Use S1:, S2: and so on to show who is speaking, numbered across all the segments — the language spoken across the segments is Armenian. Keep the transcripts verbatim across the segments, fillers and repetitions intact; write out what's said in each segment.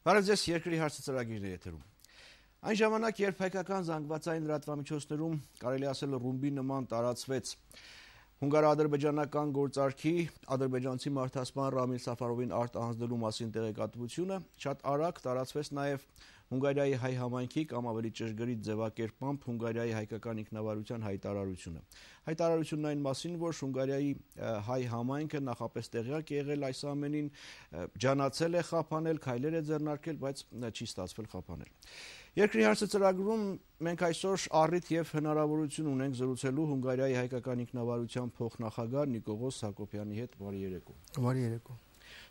S1: Բարև ձեզ, երկրի հարցը ծրագիրն է եթերում։ Այն ժամանակ, երբ հայկական զանգվածային լրատվամիջոցներում կարելի ասել ռումբի նման տարածվեց հունգարա-ադրբեջանական գործարքի ադրբեջանցի մարդասպան Ռամիլ Սաֆարովին արտ անձնելու մասին տեղեկատվությունը, շատ արագ տարածվեց նաև Հունգարիայի հայ համայնքի կամ ավելի ճշգրիտ ձևակերպմամբ Հունգարիայի հայկական ինքնավարության հայտարարությունը։ Հայտարարությունն այն մասին, որ Հունգարիայի հայ համայնքը նախապես տեղյակ է եղել այս ամենին, ջանացել է խափանել, քայլեր է ձեռնարկել, բայց չի ստացվել խափանել։ Երկրի հարցը ծրագրում մենք այսօր առիթ եւ հնարավորություն ունենք զրուցելու Հունգարիայի հայկական ինքնավարության փոխնախագահ Նիկողոս Հակոբյանի հետ։ Բարի երեկո։
S2: Բարի երեկո։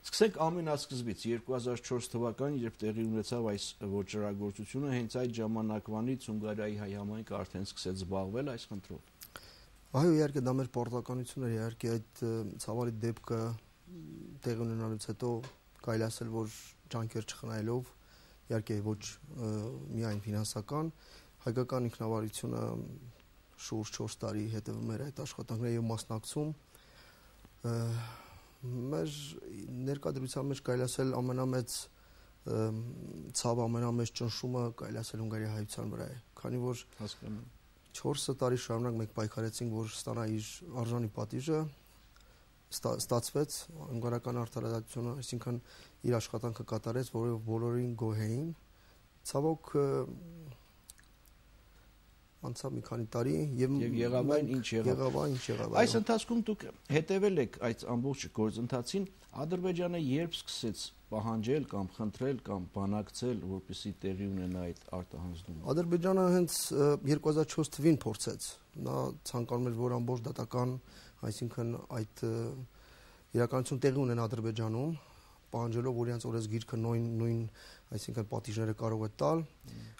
S1: Սկսենք ամենասկզբից երկու հազար չորս թվականին, երբ տեղի ունեցավ այս ոճրագործությունը, հենց այդ ժամանակվանից Հունգարիայի հայ համայնքը արդեն սկսեց զբաղվել այս խնդրով։
S2: Այո, իհարկե դա մեր պարտականությունն էր, իհարկե այդ ցավալի դեպքը տեղի ունենալուց հետո կարելի ասել, որ ջանքեր չխնայելով, իհարկե ոչ միայն ֆինանսական, հայկական ինքնավարությունը շուրջ չորս տարի հետևում էր այդ աշխատանքները եւ մասնակցում մեր ներկայացության մեջ կարելի ասել ամենամեծ ցավ ամենամեծ ճնշումը կարելի ասել Հունգարիայի հայության վրա է, քանի որ
S1: հասկանում
S2: չորս տարի շարունակ մենք պայքարեցինք, որ ստանա իր արժանի պատիժը, ստացվեց հունգարական արդարադատությունը, այսինքն իր աշխատանքը կատարեց, որով բոլորին գոհ էին։ Ցավոք անցավ մի քանի տարի եւ
S1: եղավ այն ինչ
S2: եղավ, ինչ եղավ։
S1: Այս ընթացքում դուք հետևել եք այդ ամբողջ գործընթացին, Ադրբեջանը երբ սկսեց պահանջել կամ խնդրել կամ բանակցել, որպեսզի տեղի ունենա այդ արտահանձնումը։
S2: Ադրբեջանը հենց երկու հազար չորս թվականին փորձեց։ Նա ցանկանում էր, որ ամբողջ դատական, այսինքն այդ իրականություն տեղի ունենա Ադրբեջանում, պահանջելով, որ իրենց օրենսգիրքը նույն նույն, այսինքն պատիժները կարող է տալ։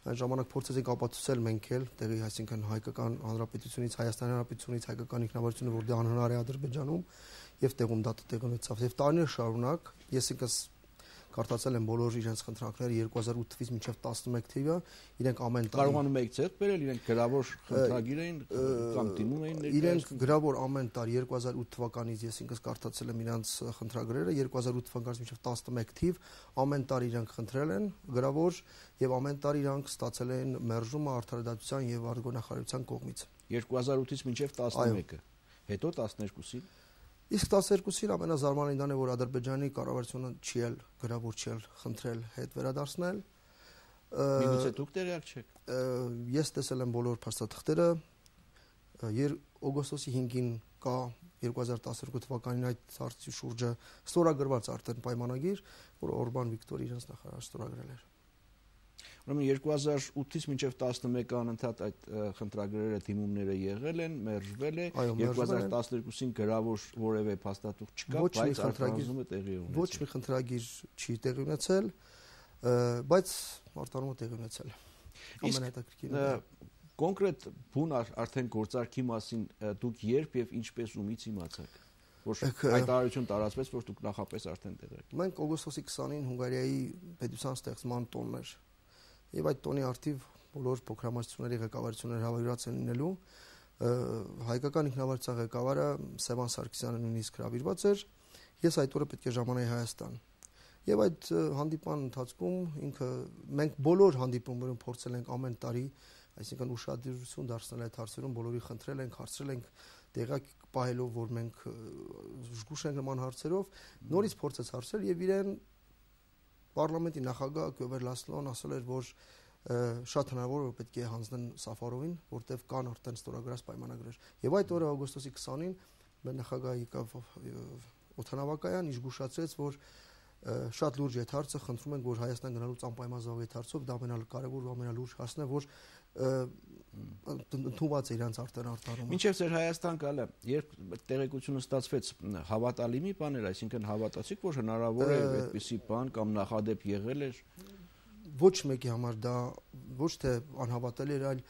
S2: Այն ժամանակ փորձեցինք ապացուցել մենք էլ տեղի, այսինքն հայկական հանրապետությունից, Հայաստանի հանրապետությունից հայկական ինքնավարությունը, որ դա անհնար է Ադրբեջանում, եւ տեղում դա տեղի ունեցավ։ Եվ տարիներ շարունակ ես ինքս կարդացել եմ բոլոր իրենց խնդրանքները երկու հազար ութ թվականից մինչև տասնմեկ թվականը, իրենք ամեն տարի
S1: կարողանում եք ձեռք բերել, իրենք գրավոր խնդրագիր էին կամ դիմում էին ներկայացնում։
S2: Իրենք գրավոր ամեն տարի երկու հազար ութ թվականից ես ինքս կարդացել եմ իրենց խնդրագրերը, երկու հազար ութ թվականից մինչև տասնմեկ թիվ ամեն տարի իրենք խնդրել են գրավոր եւ ամեն տարի իրենք ստացել են մերժումը արդարադատության եւ արտգործնախարարության կողմից։
S1: երկու հազար ութից մինչև տասնմեկը, հետո տասներկուսին
S2: Իսկ տասներկուսին ամենազարմանալին դա է, որ Ադրբեջանի կառավարությունը չի էլ գրավոր չի էլ խնդրել հետ վերադարձնել։
S1: Միգուցե դուք տեղյակ չեք։
S2: Ես տեսել եմ բոլոր փաստաթղթերը, օգոստոսի հինգին կա երկու հազար տասներկու թվականին այդ հարցի շուրջը ստորագրված արդեն պայմանագիր, որ Օրբան Վիկտոր իրենց նախարար ստորագրել էր։
S1: Ուրեմն երկու հազար ութից մինչև տասնմեկը անընդհատ այդ խնդրագրերը դիմումները եղել են, մերժվել է, երկու հազար տասներկուսին գրավոր որևէ փաստաթուղթ չկա, բայց արտահանումը տեղի ունեցել։
S2: Ոչ մի խնդրագիր չի տեղի ունեցել, բայց արտահանումը տեղի ունեցել։
S1: Ամենահետաքրքիրը կոնկրետ բուն արդեն գործարքի մասին դուք երբ եւ ինչպես ումից իմացաք, որ հայտարարություն տարածվեց, որ դուք նախապես արդեն տեղյակ։
S2: Մենք օգոստոսի քսանին Հունգարիայի պետության ստեղծման տոնն էր։ Եվ այդ տոնի արդիվ բոլոր փոքրամասնությունների ղեկավարությունները հավաքված են լինելու, հայկական ինքնավարության ղեկավարը Սևան Սարգսյանը նույնիսկ հրավիրված էր, ես այդ օրը պետք է ժամանեի Հայաստան։ Եվ այդ հանդիպման ընթացքում ինքը մենք բոլոր հանդիպումներում փորձել ենք ամեն տարի, այսինքն ուշադրություն դարձնել այդ հարցերում, բոլորի խնդրել ենք, հարցրել ենք տեղակ պահելով, որ մենք զգուշ ենք նման հարցերով, նորից փորձեց հարցրել եւ իրեն Պարլամենտի նախագահ Գյովեր Լասլոն ասել էր, որ շատ հնարավոր որ պետք է հանձնեն Սաֆարովին, որտեղ կան արդեն ստորագրած պայմանագրեր։ Եվ այդ օրը օգոստոսի քսանին մեր նախագահը եկավ օդանավակայան, իշխուշացրեց, որ շատ լուրջ է հարցը, խնդրում ենք, որ Հայաստան գնալուց անպայման զավեթ այդ հարցով, դա ամենալկարևոր ու ամենալուրջ հարցն է, որ ընդունված է իրանց արդեն արտահանումը։
S1: Մինչև ձեր Հայաստան գալը, երբ տեղեկությունը ստացվեց, հավատալի մի բան էր, այսինքն հավատացիք, որ հնարավոր է այդպիսի բան կամ նախադեպ եղել էր։
S2: Ոչ մեկի համար դա ոչ թե անհավատալի էր, այլ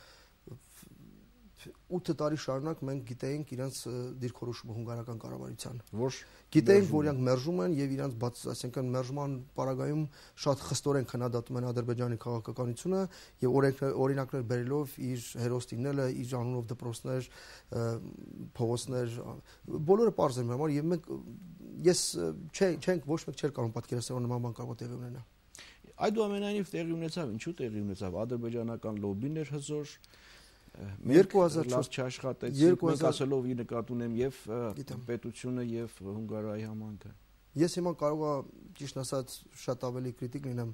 S2: ութ տարի շարունակ մենք գիտեինք իրենց դիրքորոշումը հունգարական կառավարության,
S1: որ
S2: գիտեինք, որ իրենք մերժում են եւ իրենց բաց, այսինքն մերժման պարագայում շատ խստորեն քննադատում են Ադրբեջանի քաղաքականությունը եւ օրինակներ բերելով իր հերոստինները, իր անունով դպրոցներ, փողոցներ, բոլորը པարզ են համար եւ մենք ես չենք ոչ մեկ չէր կարող պատկերացնել նման բան կարող տեղի ունենա։
S1: Այդուամենայնիվ տեղի ունեցավ, ինչու տեղի ունեցավ, ադրբեջանական լոբբին էր հզոր,
S2: երկու հազար չորս
S1: չաշխատեցին, մենք ասելով ի նկատի ունեմ եւ պետությունը եւ Հունգարիայի համանքը։
S2: Ես հիմա կարող եմ ճիշտ ասած շատ ավելի կրիտիկ լինեմ,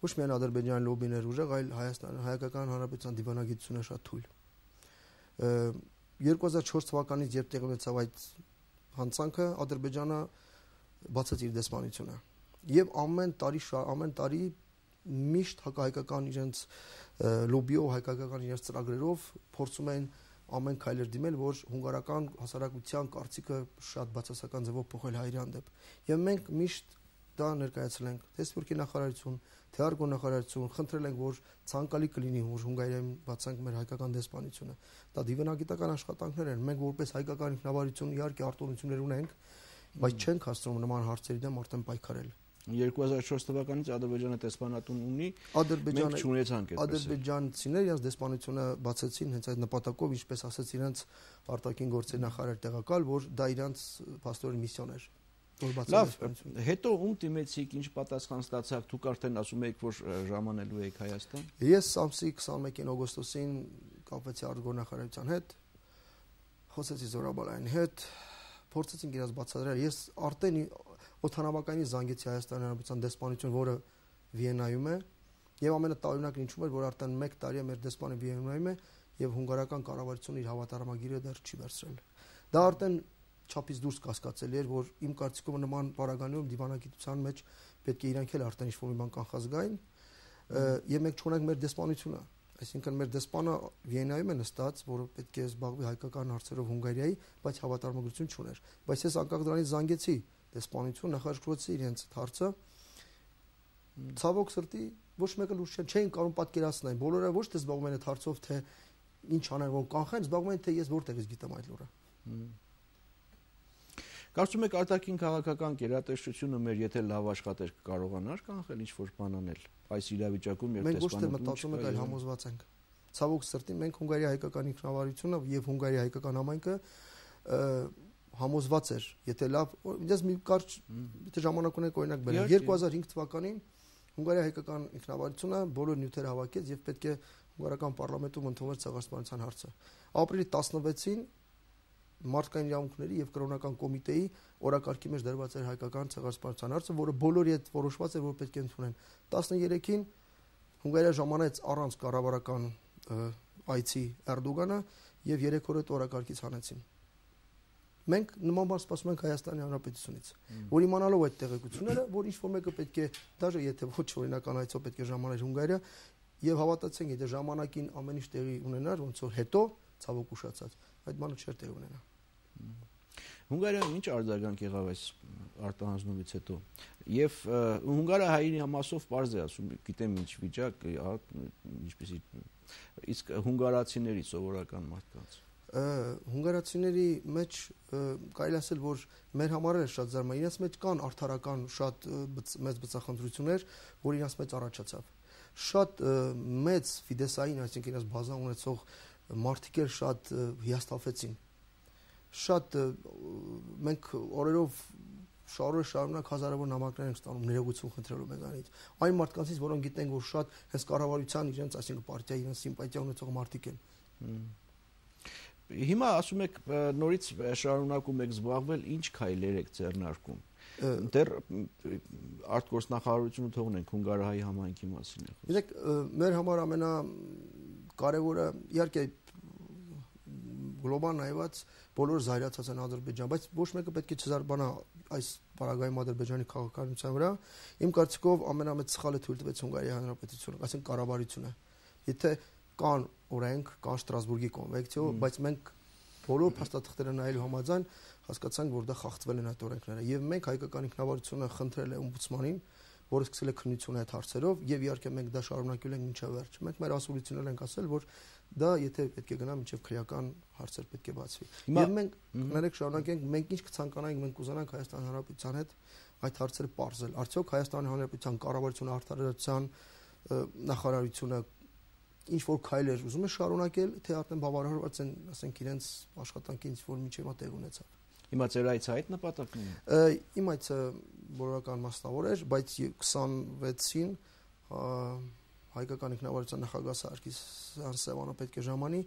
S2: ոչ միայն Ադրբեջանի լոբբին էր ուժեղ, այլ Հայաստան Հայկական Հանրապետության դիվանագիտությունը շատ թույլ։ երկու հազար չորս թվականից երբ տեղի ունեցավ այդ հանցանքը, Ադրբեջանը բացեց իր դեսպանությունը եւ ամեն տարի ամեն տարի միշտ հակահայկական իրենց լոբիով, հայկական իրենց ծրագրերով փորձում են ամեն քայլեր դիմել, որ հունգարական հասարակության կարծիքը շատ բացասական ձևով փոխել հայերի հանդեպ։ Եվ մենք միշտ դա ներկայացրել ենք թե Սփյուռքի նախարարություն, թե Արգո նախարարություն, խնդրել ենք, որ ցանկալի կլինի, որ Հունգարիայում բացանք մեր հայկական դեսպանությունը։ Դա դիվանագիտական աշխատանքներ են։ Մենք որպես հայկական ինքնավարություն իհարկե արտոնություններ ունենք, բայց չենք հասցնում նման հարցերի դեմ արդեն պայքարել։
S1: երկու հազար չորս թվականից Ադրբեջանը դեսպանատուն ունի,
S2: Ադրբեջանը
S1: չունեցանք այդպես։
S2: Ադրբեջանցիները իրենց դեսպանությունը բացեցին հենց այդ նպատակով, ինչպես ասաց իրենց արտաքին գործերի նախարար տեղակալ, որ դա իրենց փաստորեն միսիոն էր։
S1: Լավ, հետո ում դիմեցիք, ինչ պատասխան ստացաք, դուք արդեն ասում եք, որ ժամանելու եք Հայաստան։
S2: Ես ամսի քսաներկին օգոստոսին կապվեցի Արգո նախարարության հետ, խոսեցի Զորաբալայանի հետ, փորձեցինք իրաց բացատրել։ Ես արդեն օդանավակայանի զանգեցի Հայաստանի Հանրապետության դեսպանություն, որը Վիեննայում է, եւ ամենատարօրինակն ինչու էր, որ արդեն մեկ տարի է մեր դեսպանը Վիեննայում է եւ հունգարական կառավարությունը իր հավատարմագիրը դեռ չի վերցրել։ Դա արդեն չափից դուրս կասկածելի էր, որ իմ կարծիքով նման բարագաներում դիվանագիտության մեջ պետք է իրանք էլ արդեն ինչ-որ մի բան կանխազգային, եւ մենք չունենք մեր դեսպանությունը, այսինքն մեր դեսպանը Վիեննայում է նստած, որը պետք է զբաղվի հայկական հարցերով Հունգարիայի, բայց հավատարմագրություն չուներ։ Բայց ես անկախ դրանից զանգեցի դեսպանություն, նախաճրկրոցի իրենց հարցը։ Ցավոք սրտի ոչ մեկը լուրջ չէին կարող պատկերացնել, բոլորը ոչ թե զբաղվում են այդ հարցով, թե ինչ անեն, որ կանխեն, զբաղվում են թե ես որտեղից գիտեմ այդ լուրը։
S1: Կարծում եք արտաքին քաղաքական գերատեսչությունը մեր եթե լավ աշխատեր կարողանար կանխել ինչ-որ բան անել այս իրավիճակում եւ
S2: մենք ոչ թե մտածում ենք, այլ համոզված ենք։ Ցավոք սրտի մենք Հունգարիայի հայկական ինքնավարությունը եւ Հունգարիայի հայկական համայնքը համոզված էր, եթե լավ, ինձ մի կարճ եթե ժամանակ ունենք օրինակ բերեմ, երկու հազար հինգ թվականին Հունգարիայի հայկական ինքնավարությունը բոլոր նյութերը հավաքեց եւ պետք է հունգարական պարլամենտում ընդունվեր ցեղասպանության հարցը։ Ապրիլի տասնվեցին մարդկային իրավունքների եւ կրոնական կոմիտեի օրակարգի մեջ դրված էր հայկական ցեղասպանության հարցը, որը բոլորի հետ որոշված էր, որ պետք է ընդունեն։ տասներեքին Հունգարիա ժամանեց առանց կառավարական այցի Էրդոգանը եւ երեք օր հետ օրակարգից հանեցին։ Մենք նման բան սպասում ենք Հայաստանի Հանրապետությունից, որ իմանալով այդ տեղեկությունները, որ ինչ-որ մեկը պետք է, դաժե եթե ոչ օրինական այցով պետք է ժամաներ Հունգարիա, եւ հավատացեք, եթե ժամանակին ամեն ինչ տեղի ունենար, ոնց որ հետո ցավոք ուշացած, այդ բանը չէր տեղի ունենա։
S1: Հունգարիայում ինչ արձագանք եղավ այս արտահանձնումից հետո։ Եվ հունգարահայերի մասով պարզ է ասում, գիտեմ ինչ վիճակ, ինչպեսի, իսկ հունգարացիների սովորական մարդկանց։
S2: Հունգարացիների մեջ կարելի ասել, որ մեր համար է շատ զարմանալի, իրենց մեջ կան արդարական շատ մեծ բծախնդրություններ, որ իրենց մեջ առաջացավ։ Շատ մեծ ֆիդեսային, այսինքն իրենց բազա ունեցող մարդիկ էլ շատ հիասթափվեցին։ Շատ մենք օրերով շարունակ շարունակ հազարավոր նամակներ ենք ստանում ներողություն խնդրելու մեզանից։ Այն մարդկանցից, որոնք գիտենք, որ շատ հենց կառավարության իրենց, այսինքն պարտիայի իրենց սիմպաթիա ունեցող մարդիկ են։
S1: Հիմա ասում եք նորից շարունակում եք զբաղվել, ինչ քայլեր եք ձեռնարկում։ Դեռ արտգործնախարարությունը թողնենք Հունգարիայի համայնքի մասին է խոսքը։
S2: Գիտեք, մեր համար ամենակարևորը իհարկե գլոբալ նայված բոլոր զայրացած են Ադրբեջան, բայց ոչ մեկը պետք է չզարմանա այս պարագայում Ադրբեջանի քաղաքականության վրա։ Իմ կարծիքով ամենամեծ սխալը թույլ տվեց Հունգարիայի Հանրապետությունը, այսինքն կառավարությունը։ Եթե կան օրենք, կան Շտրասբուրգի կոնվենցիա, բայց մենք բոլոր փաստաթղթերը նայելու համաձայն հասկացանք, որ դա խախտվել են այդ օրենքները։ Եվ մենք հայկական ինքնավարությունը խնդրել է օմբուդսմանին, որը սկսել է քննություն այդ հարցերով, եւ իհարկե մենք դա շարունակել ենք մինչև վերջ։ Մենք մեր ասուլություններ ենք ասել, որ դա եթե պետք է գնա մինչև քրեական հարցեր պետք է բացվի։ Եվ մենք կներեք շարունակենք, մենք ինչ կցանկանայինք, մենք կուզենանք Հայաստանի Հանրապետության հետ այդ հարցերը բարձել։ Արդյոք Հայաստանի Հանրապետության կառավարությունը, արտադրության նախարարությունը ինչ որ քայլեր ուզում է շարունակել, թե արդեն բավարարված են, ասենք, իրենց աշխատանքի ինչ որ միջև տեղ ունեցավ։
S1: Հիմա ձեր այցը այդ նպատակն է։
S2: Իմ այցը բոլորական մասնավոր էր, բայց քսանվեցին հայկական ինքնավարության նախագահ Սարգսյան Սևանը պետք է ժամանի,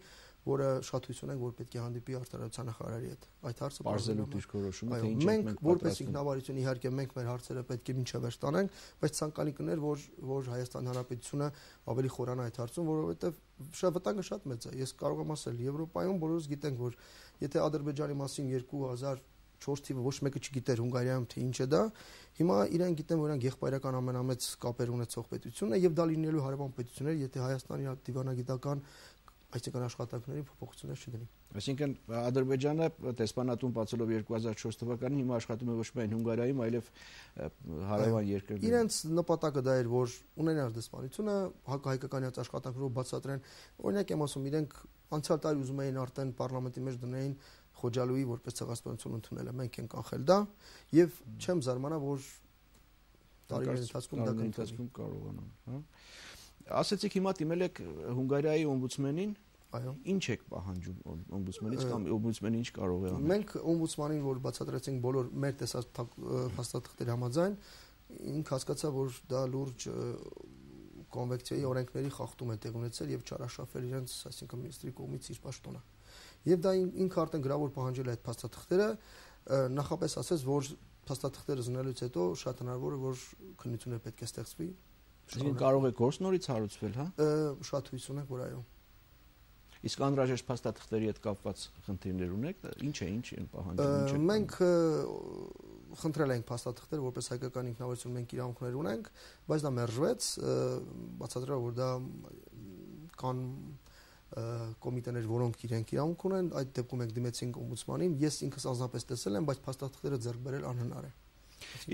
S2: որը շատ հույս ունենք, որ պետք է հանդիպի արտադրության նախարարի հետ։ Այդ հարցը
S1: բարձրելու դիրքորոշումը,
S2: թե ինչ մենք որպես ինքնավարություն իհարկե մենք մեր հարցերը պետք է մինչև վերջ տանենք, բայց ցանկալի կներ, որ որ Հայաստան Հանրապետությունը ավելի խորանա այդ հարցում, որովհետև շատ վտանգը շատ մեծ է։ Ես կարող եմ ասել, Եվրոպայում բոլորս գիտենք, որ եթե Ադրբեջանի մասին երկու հազար չորս թիվը ոչ մեկը չգիտեր Հունգարիայում թե ինչ է դա, հիմա իրենք գիտեն, որ իրենք եղբայրական ամենամեծ կապեր ունեցող պետությունն է եւ դա լինելու հարևան պետություններ, եթե Հայաստանի դիվանագիտական այսինքն աշխատանքների փոփոխություններ չդնի։
S1: Այսինքն Ադրբեջանը դեսպանատուն բացելով երկու հազար չորս թվականին հիմա աշխատում է ոչ միայն Հունգարիայում, այլև հարևան երկրներում։
S2: Իրենց նպատակը դա էր, որ ունենալ դեսպանությունը հակահայկականյաց աշխատանքներով բացատրեն։ Օրինակ եմ ասում, իրենք անցյալ տարի ուզում էին արդեն պարլամենտի մեջ դնեին Խոջալույի որպես ցեղասպանություն ընդունել է, մենք ենք կանխել դա եւ չեմ զարմանա, որ տարիների ընթացքում դա կընթացքում
S1: կարողանան, հա։ Ասեցիք հիմա դիմել եք Հունգարիայի օմբուդսմենին,
S2: այո,
S1: ինչ եք պահանջում օմբուդսմենից կամ օմբուդսմենը ինչ կարող է անել։
S2: Մենք օմբուդսմանին, որ բացատրեցինք բոլոր մեր տեսած փաստաթղթերի համաձայն, ինք հասկացա, որ դա լուրջ կոնվեկցիայի օրենքների խախտում է տեղ ունեցել եւ չարաշահել իրենց, այսինքն մինիստրի կողմից իր պաշտոնը։ Եվ դա ինքը արդեն գրավոր պահանջել է այդ փաստաթղթերը, նախապես ասեց, որ փաստաթղթերը զննելուց հետո շատ հնարավոր է, որ քննությունը պետք է ստեղծվի։
S1: Այսինքն կարող է գործ նորից հարուցվել, հա։
S2: Շատ հույս ունենք, որ այո։
S1: Իսկ անհրաժեշտ փաստաթղթերի հետ կապված խնդիրներ ունեք, ինչ է, ինչ են պահանջում։
S2: Մենք խնդրել ենք փաստաթղթեր, որպես հայկական ինքնավարություն մենք իրավունքներ ունենք, բայց դա մերժվեց, բացատրելով, որ դա կան կոմիտեներ, որոնք իրենք իրավունք ունեն, այդ դեպքում մենք դիմեցինք օմբուդսմանին, ես ինքս անձնապես տեսել եմ, բայց փաստաթղթերը ձեռք բերել անհնար է։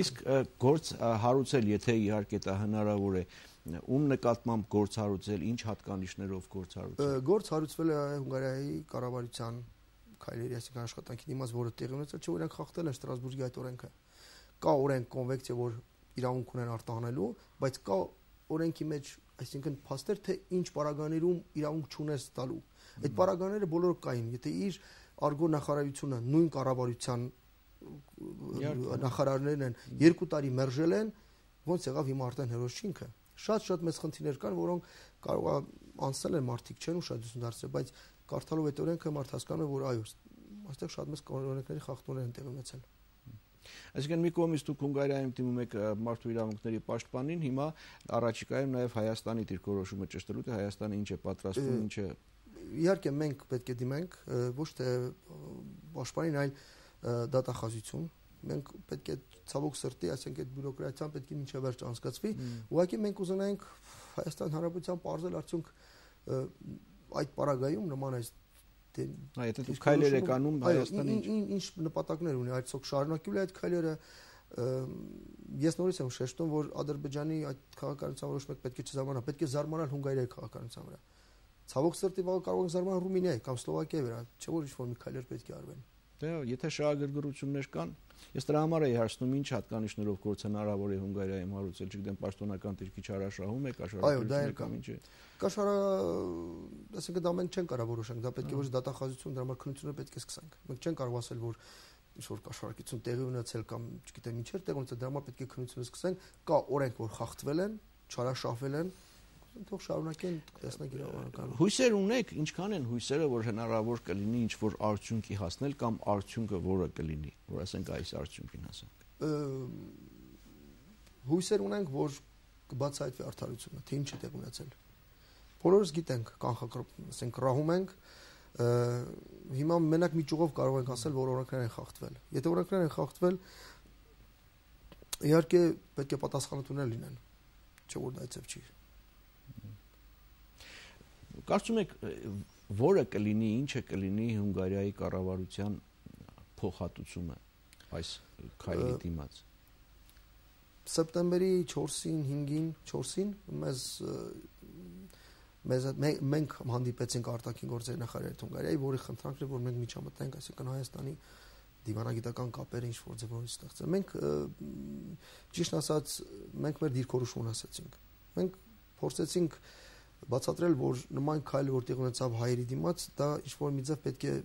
S1: Իսկ գործ հարուցել, եթե իհարկե դա հնարավոր է, ում նկատմամբ գործ հարուցել, ինչ հատկանիշներով գործ հարուցել։
S2: Գործ հարուցվել է Հունգարիայի կառավարության քայլերի, այսինքն աշխատանքի դիմաց, որը տեղի ունեցել, չէ՞ որ իրենք խախտել են Ստրասբուրգի այդ օրենքը։ Կա օրենք, կոնվեկցիա, որ իրավունք ունեն արտահանելու, բայց կա օրենքի մեջ, այսինքն փաստեր, թե ինչ պարագաներում իրավունք չունես տալու։ Այդ պարագաները բոլորը կային, եթե իր արգո նախարարությունը նույն կառավարության նախարարներն են երկու տարի մերժել են, ոնց եղավ հիմա արդեն հերոս չինքը։ Շատ-շատ մեծ խնդիրներ կան, որոնք կարող է անցնել են մարդիկ չեն ուշադրություն դարձրել, բայց կարդալով այդ օրենքը մարդ հասկանում է, որ այո, այստեղ շատ մեծ օրենքների խախտումներ են տեղի ունեցել։
S1: Այսինքն մի կողմից դուք Հունգարիայում դիմում եք մարդու իրավունքների պաշտպանին, հիմա առաջիկայում նաև Հայաստանի դիրքորոշումը ճշտելու, թե Հայաստանը ինչ է պատրաստվում, ինչ է։
S2: Իհարկե մենք պետք է դիմենք ոչ թե պաշտպանին, այլ դատախազություն։ Մենք պետք է ցավոք սրտի, ասենք այդ բյուրոկրատիան պետք է մինչև վերջ անցկացվի։ Ուղղակի մենք ուզենայինք Հայաստան Հանրապետության բարձր արդյունք այդ պարագայում նման այս
S1: Այ եթե դուք քայլեր եք անում Հայաստանի
S2: ինչ նպատակներ ունի, այսօք շարունակելու է այդ քայլերը։ Ես նորից եմ շեշտում, որ Ադրբեջանի այդ քաղաքականության որոշ մեկ պետք է չզարմանա, պետք է զարմանալ Հունգարիայի քաղաքականության վրա։ Ցավոք սրտի վաղ կարող են զարմանալ Ռումինիայի կամ Սլովակիայի վրա, չէ՞ որ ինչ-որ մի քայլեր պետք է արվեն։
S1: Դե եթե շահագրգռություններ կան, ես դրա համար էի հարցնում ինչ հատկանիշներով գործ հնարավոր է Հունգարիայում հարուցել, չգիտեմ, պաշտոնական դիրքի չարաշահում է, կաշառակերություն կամ ինչ է։
S2: Կաշառա, ասենք դա մենք չենք կարող որոշենք, դա պետք է ոչ դատախազություն, դրա համար քննությունը պետք է սկսենք։ Մենք չենք կարող ասել, որ ինչ որ կաշառակերություն տեղի ունեցել կամ չգիտեմ ինչեր տեղ ունեցել, դրա համար պետք է քննությունը սկսենք։ Կա օրենք, որ խախտվել են, չարաշահվել են, թող շարունակեն տեսնենք իրավական։
S1: Հույսեր ունեք, ինչքան են հույսերը, որ հնարավոր կլինի ինչ որ արդյունքի հասնել կամ արդյունքը որը կլինի, որ ասենք այս արդյունքին հասանք։
S2: Հույսեր ունենք, որ կբացահայտվի արդարությունը, թե ինչ է տեղ ունեցել։ Բոլորս գիտենք, կանխակրոպ, ասենք ռահում ենք, հիմա մենակ մի ճյուղով կարող ենք ասել, որ օրենքներ են խախտվել։ Եթե օրենքներ են խախտվել, իհարկե պետք է պատասխանատուներ լինեն, չէ՞ որ դա այդպես չի։
S1: Կարծում եք, որը կլինի, ինչը կլինի Հունգարիայի կառավարության փոխհատուցումը այս քայլի դիմաց։
S2: Սեպտեմբերի չորսին, հինգին, չորսին մեզ մեզ մենք հանդիպեցինք արտաքին գործերի նախարարի Հունգարիայի, որի խնդրանքն է, որ մենք միջամտենք, այսինքն Հայաստանի դիվանագիտական կապերը ինչ որ ձևով ստեղծել։ Մենք ճիշտ ասած, մենք մեր դիրքորոշումն ասացինք։ Մենք փորձեցինք բացատրել, որ նման քայլ որտեղ ունեցավ հայերի դիմաց, դա ինչ որ մի ձև պետք է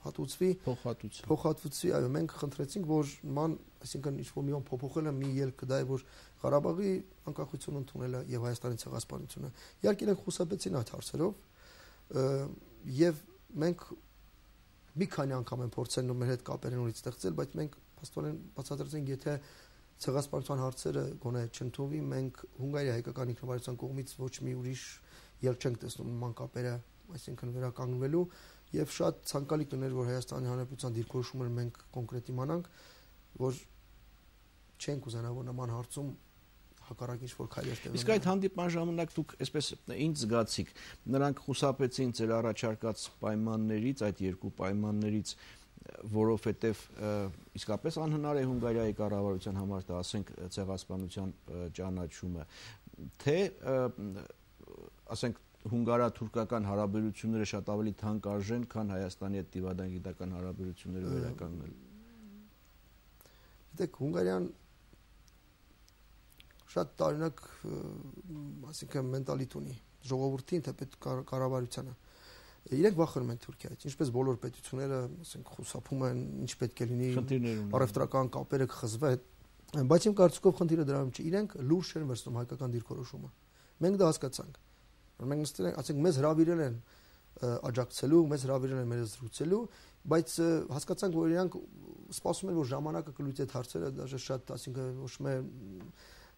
S2: հատուցվի,
S1: փոխհատուցվի,
S2: փոխհատուցվի, այո, մենք խնդրեցինք, որ ման, այսինքն ինչ-որ մի բան փոփոխելը մի ելքը դա է, որ Ղարաբաղի անկախությունը ընդունելը եւ Հայաստանի ցեղասպանությունը։ Իհարկե իրենք խուսափեցին այդ հարցերով, եւ մենք մի քանի անգամ են փորձել մեր հետ կապեր նորից ստեղծել, բայց մենք փաստորեն բացատրեցինք, եթե ցեղասպանության հարցերը գոնե չընդունվի, մենք Հունգարիա հայկական ինքնավարության կողմից ոչ մի ուրիշ ելք չենք տեսնում նման կապերը, այսինքն վերականգնվելու, եւ շատ ցանկալի կներ, որ Հայաստանի Հանրապետության դիրքորոշումը մենք կոնկրետ իմանանք, որ չենք ուզենա, որ նման հարցում հակառակ ինչ-որ քայլեր տևեն։
S1: Իսկ այդ հանդիպման ժամանակ դուք այսպես ինչ զգացիք, նրանք խուսափեցին ձեր առաջարկած պայմաններից, այդ երկու պայմաններից, որովհետև իսկապես անհնար է Հունգարիայի կառավարության համար դա ասենք ցեղասպանության ճանաչումը, թե ասենք հունգարա-թուրքական հարաբերությունները շատ ավելի թանկարժեն, քան Հայաստանի հետ դիվադագիտական հարաբերությունները վերականգնել։
S2: Գիտեք, Հունգարիան շատ տարօրինակ, ասիկան մենտալիտ ունի, ժողովրդին, թեպետ կառավարությանը։ Իրենք վախենում են Թուրքիայից, ինչպես բոլոր պետությունները, ասենք, խուսափում են, ինչ պետք է լինի, առևտրական կապերը կխզվեն, բայց իմ կարծիքով խնդիրը դրանում չէ, իրենք լուրջ չեն վերցնում հայկական դիրքորոշումը։ Մենք դա հասկացանք, որ մենք նստել ենք, ասենք, մեզ հրավիրել են աջակցելու, մեզ հրավիրել են մեզ զրուցելու, բայց հասկացանք, որ իրանք սպասում են, որ ժամանակը կլուծի այդ հարցերը, դաժե շատ, ասինքն, ոչ մի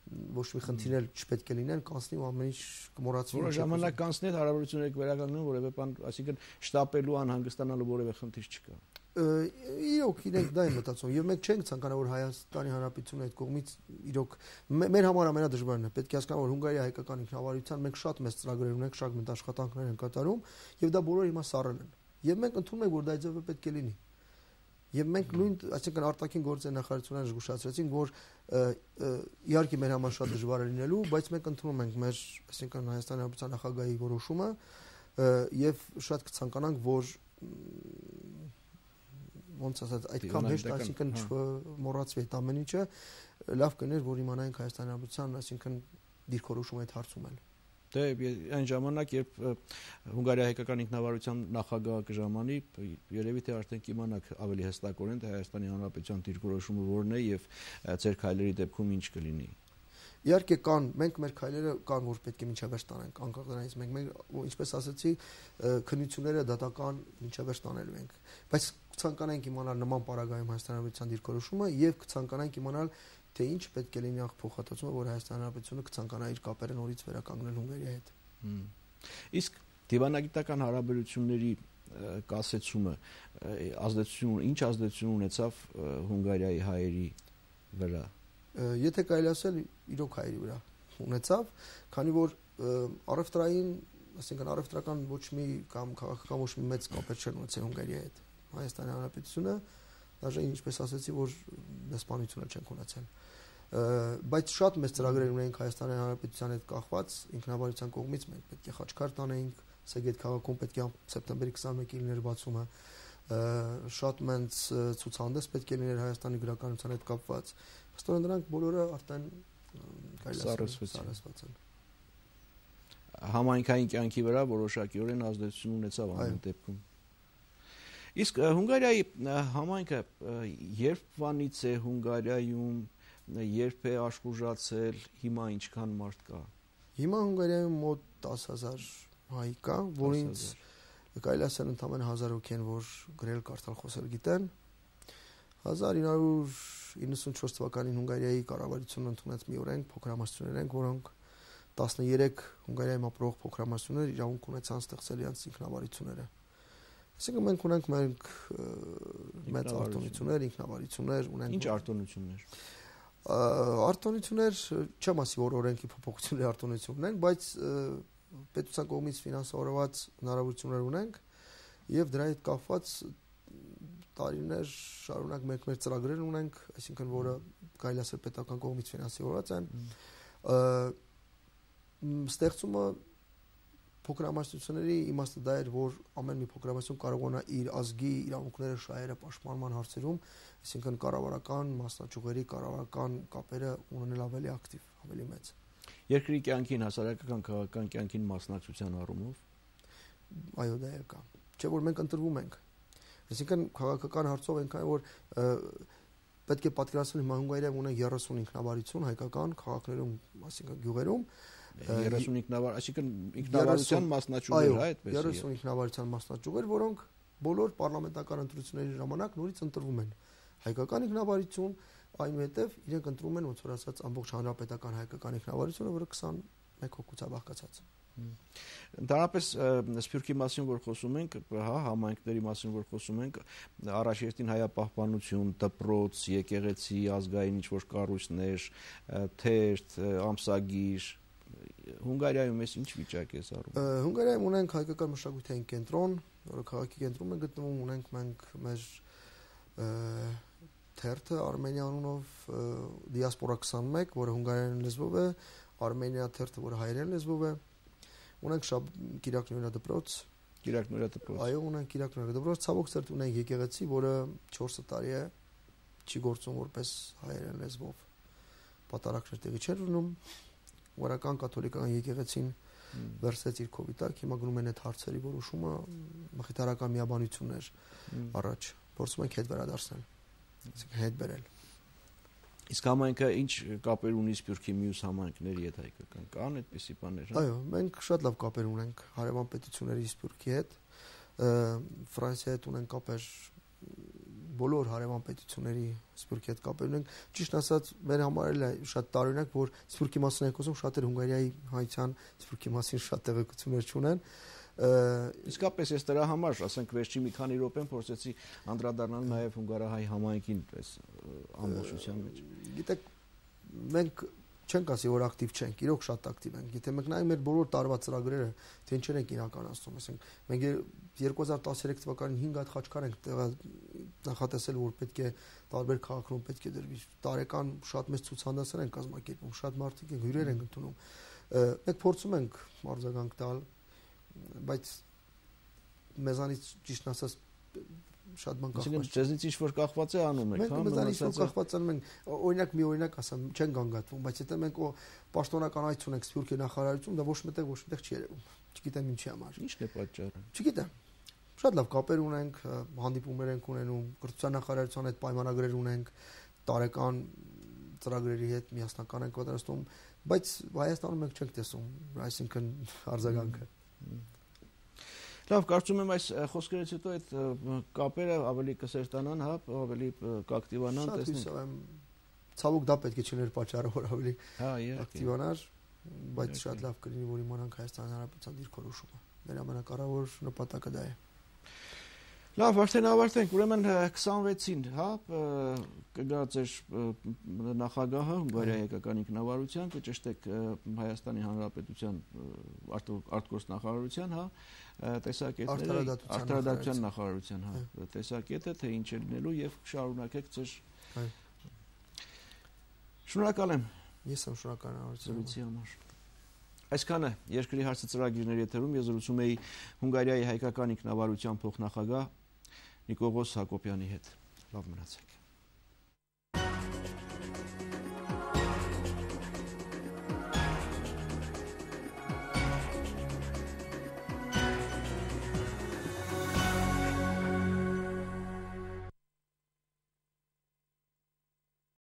S2: ոչ մի խնդիրներ չպետք է լինեն, կանցնի ու ամեն ինչ կմոռացվի։
S1: Որը ժամանակ կանցնի այդ հարաբերությունները կվերականգնեն, որևէ բան, այսինքն շտապելու, անհանգստանալու որևէ խնդիր չկա։
S2: Իրոք իրենք դա են մտածում, եւ մենք չենք ցանկանա, որ Հայաստանի Հանրապետությունը այդ կողմից իրոք մեր համար ամենադժվարն է։ Պետք է հասկանալ, որ Հունգարիա հայկական ինքնավարության մենք շատ մեծ ծրագրեր ունենք, շատ մեծ աշխատանքներ են կատարում, եւ դա բոլորը հիմա սառել են։ Եվ մենք ընդունում ենք, որ դա ձևը պետք է լինի։ Եվ մենք նույն, այսինքն արտաքին գործերի նախարարությունն զգուշացրեցին, որ իհարկե մեր համար շատ դժվար է լինելու, բայց մենք ընդունում ենք մեր, այսինքն Հայաստանի Հանրապետության նախագահի որոշումը եւ շատ կցանկանանք, որ ոնց ասած, այդքան հեշտ, այսինքն չմոռացվի այդ ամեն ինչը, լավ կներ, որ իմանայինք Հայաստանի Հանրապետության, այսինքն դիրքորոշումը այդ հարցում էլ։
S1: Դե այն ժամանակ, երբ Հունգարիա հայկական ինքնավարության նախագահը կժամանի, երևի թե արդեն կիմանաք ավելի հստակորեն, թե Հայաստանի Հանրապետության դիրքորոշումը որն է եւ ձեր քայլերի դեպքում ինչ կլինի։
S2: Իհարկե կան, մենք մեր քայլերը կան, որ պետք է մինչև տանենք, անկախ դրանից մենք մենք ինչպես ասացի, քննությունները դատական մինչև տանելու ենք, բայց կցանկանանք իմանալ նման պարագայում Հայաստանի Հանրապետության դիրքորոշումը եւ կցանկանանք իմանալ թե ինչ պետք է լինի փոխհատուցումը, որ Հայաստանի Հանրապետությունը կցանկանա իր կապերը նորից վերականգնել Հունգարիայի հետ։
S1: Իսկ դիվանագիտական հարաբերությունների կասեցումը ազդեցություն, ինչ ազդեցություն ունեցավ Հունգարիայի հայերի վրա։
S2: Եթե կարելի ասել, իրոք հայերի վրա ունեցավ, քանի որ առևտրային, ասենքն առևտրական ոչ մի կամ քաղաքական ոչ մի մեծ կապեր չեն ունեցել Հունգարիայի հետ։ Հայաստանի Հանրապետությունը դաժե ինչպես ասեցի, որ դեսպանությունը չենք ունեցել, բայց շատ մեծ ծրագրեր ունենք Հայաստանի Հանրապետության հետ կախված ինքնավարության կողմից, մենք պետք է խաչքար տանեինք, Սեգեդ քաղաքում պետք է սեպտեմբերի քսաներկին լիներ բացումը, շատ մեծ ցուցահանդես պետք է լիներ Հայաստանի գրականության հետ կապված, փաստորեն դրանք բոլորը արդեն
S1: սառեցված են։ Համայնքային կյանքի վրա որոշակիորեն ազդեցություն ունեցավ ամեն դեպքում։ Իսկ Հունգարիայի համայնքը երբվանից է Հունգարիայում, երբ է աշխուժացել, հիմա ինչքան մարդ կա։
S2: Հիմա Հունգարիայում մոտ տասը հազար հայ կա, որից կարելի ասել ընդամենը հազար հոգի են, որ գրել, կարդալ, խոսել գիտեն։ հազար ինը հարյուր իննսունչորս թվականին Հունգարիայի կառավարությունը ընդունեց մի օրենք, փոքրամասնություններ են, որոնք տասներեք Հունգարիայում ապրող փոքրամասնություններ իրավունք ունեցան ստեղծել իրենց ինքնավարությունները։ Այսինքն մենք ունենք մենք մեծ արտոնություններ, ինքնավարություններ ունենք։
S1: Ինչ արտոնություններ։
S2: Արտոնություններ չեմ ասի, որ օրենքի փոփոխությունների արտոնություն ունենք, բայց պետության կողմից ֆինանսավորված հնարավորություններ ունենք եւ դրա հետ կապված տարիներ շարունակ մենք մեր ծրագրեր ունենք, այսինքն որը կարելի ասել պետական կողմից ֆինանսավորված են։ Ստեղծումը փոքրամասնությունների իմաստը դա էր, որ ամեն մի փոքրամասնություն կարողանա իր ազգի իրավունքները շահերը պաշտպանման հարցերում, այսինքն կառավարական, մասնաճյուղերի կառավարական կապերը ունենալ ավելի ակտիվ, ավելի մեծ։
S1: Երկրի կյանքին, հասարակական քաղաքական կյանքին մասնակցության առումով։
S2: Այո, դա է կա։ Չէ՞ որ մենք ընտրվում ենք։ Այսինքն քաղաքական հարցով այնքան որ պետք է պատկերացնել հիմա Հունգարիայում ունենք երեսուն ինքնավարություն հայկական քաղաքներում, այսինքն գյուղերում
S1: երեսուն ինքնավար, այսինքն ինքնավարության մասնաճյուղեր, հա, այդպես է։
S2: երեսուն ինքնավարության մասնաճյուղեր, որոնք բոլոր պարլամենտական ընտրությունների ժամանակ նորից ընտրվում են։ Հայկական ինքնավարություն, այնուհետև իրենք ընտրում են ոնց որ ասած ամբողջ հանրապետական հայկական ինքնավարությունը, որը քսանմեկ հոգուց է բաղկացած։
S1: Ընդհանրապես Սփյուռքի մասին որ խոսում ենք, հա, համայնքների մասին որ խոսում ենք, առաջերտին հայապահպանություն, դպրոց, եկեղեցի, ազգային ինչ-որ կառույցներ, թերթ, ամսագիր, Հունգարիայում էս ինչ վիճակ է զարում։
S2: Հունգարիայում ունենք հայկական մշակութային կենտրոն, որը քաղաքի կենտրոնում է գտնվում, ունենք մենք մեր թերթը Արմենիա անունով դիասպորա քսանմեկ, որը հունգարերեն լեզվով է, Արմենիա թերթը, որը հայերեն լեզվով է, ունենք շաբ Կիրակնորիա դպրոց,
S1: Կիրակնորիա դպրոց։
S2: Այո, ունենք Կիրակնորիա դպրոց, ցավոք սերտ ունենք եկեղեցի, որը չորս տարի է չի գործում որպես հայերեն լեզվով։ Պատարակներ տեղի չեն ունենում, Վարական կաթոլիկական եկեղեցին վերցրեց իր քովի տակ, հիմա գնում են այդ հարցերի որոշումը, մխիթարական միաբանություններ առաջ, փորձում ենք հետ վերադարձնել, այսինքն հետ բերել։
S1: Իսկ համայնքը ինչ կապեր ունի Սփյուռքի մյուս համայնքների հետ հայկական, կան այդպիսի բաներ, հա։
S2: Այո, մենք շատ լավ կապեր ունենք հարևան պետությունների Սփյուռքի հետ, Ֆրանսիայի հետ ունենք կապեր, բոլոր հարևան պետությունների Սփյուռքի հետ կապեր ունենք։ Ճիշտ ասած, մեր համար էլ է շատ տարօրինակ, որ Սփյուռքի մասին ենք խոսում, շատեր Հունգարիայի հայցան Սփյուռքի մասին շատ տեղեկություններ չունեն։
S1: Իսկապես ես դրա համար, ասենք, վերջի մի քանի րոպեն փորձեցի անդրադառնալ նաև հունգարահայ համայնքին, այս ամբողջության մեջ։
S2: Գիտեք, մենք չենք ասի, որ ակտիվ չենք, իրոք շատ ակտիվ ենք։ Գիտեք, մենք նայում մեր բոլոր տարվա ծրագրերը, թե ինչեր ենք իրականացնում, ասենք, մենք երկու հազար տասներեք թվականին հինգ հատ խաչքար ենք նախատեսել, որ պետք է տարբեր քաղաքներում պետք է դրվի։ Տարեկան շատ մեծ ցուցահանդեսներ են կազմակերպում, շատ մարդիկ են, հյուրեր են ընդունում։ Մենք փորձում ենք արձագանք տալ, բայց մեզանից ճիշտ ասած շատ բան կախված
S1: չէ։ Ձեզնից ինչ որ կախված է անում եք,
S2: հա, մեզանից որ կախված անում ենք, օրինակ մի օրինակ ասեմ, չեն գանգատվում, բայց եթե մենք պաշտոնական այց ունենք Սփյուռքի նախարարություն, դա ոչ մտեղ ոչ մտեղ չի երևում։ Չգիտեմ ինչի համար։
S1: Ի՞նչն է պատճառը։
S2: Չգիտեմ։ Շատ լավ կապեր ունենք, հանդիպումներ ենք ունենում, կրթության նախարարության հետ պայմանագրեր ունենք, տարեկան ծրագրերի հետ միասնական ենք պատրաստում, բայց Հայաստանում մենք չենք տեսում, այսինքն արձագանքը։
S1: Լավ, կարծում եմ այս խոսքերից հետո այդ կապերը ավելի կսերտանան, հա, ավելի կակտիվանան,
S2: տեսնենք։ Շատ հույսով եմ, ցավոք դա պետք է չներ պատճառը, որ ավելի ակտիվանար, բայց շատ լավ կլինի, որ իմանանք Հայաստանի Հանրապետության դիրքորոշումը։ Մեր ամենակարևոր նպատակը դա է։
S1: Լավ, արդեն ավարտենք, ուրեմն քսանվեցին, հա, կգա ձեր նախագահը Հունգարիայի հայկական ինքնավարության, կճշտեք Հայաստանի Հանրապետության արտգործնախարարության, հա, տեսակետները, արդարադատության նախարարության, հա, տեսակետը, թե ինչ է լինելու եւ շարունակեք ձեր։ Շնորհակալ եմ։
S2: Ես եմ շնորհակալ
S1: զրույցի համար։ Այսքանը երկրի հարցը ծրագիրների եթերում ես զրուցում էի Հունգարիայի հայկական ինքնավարության փոխնախագահ Նիկողոս Հակոբյանի հետ։ Լավ մնացեք։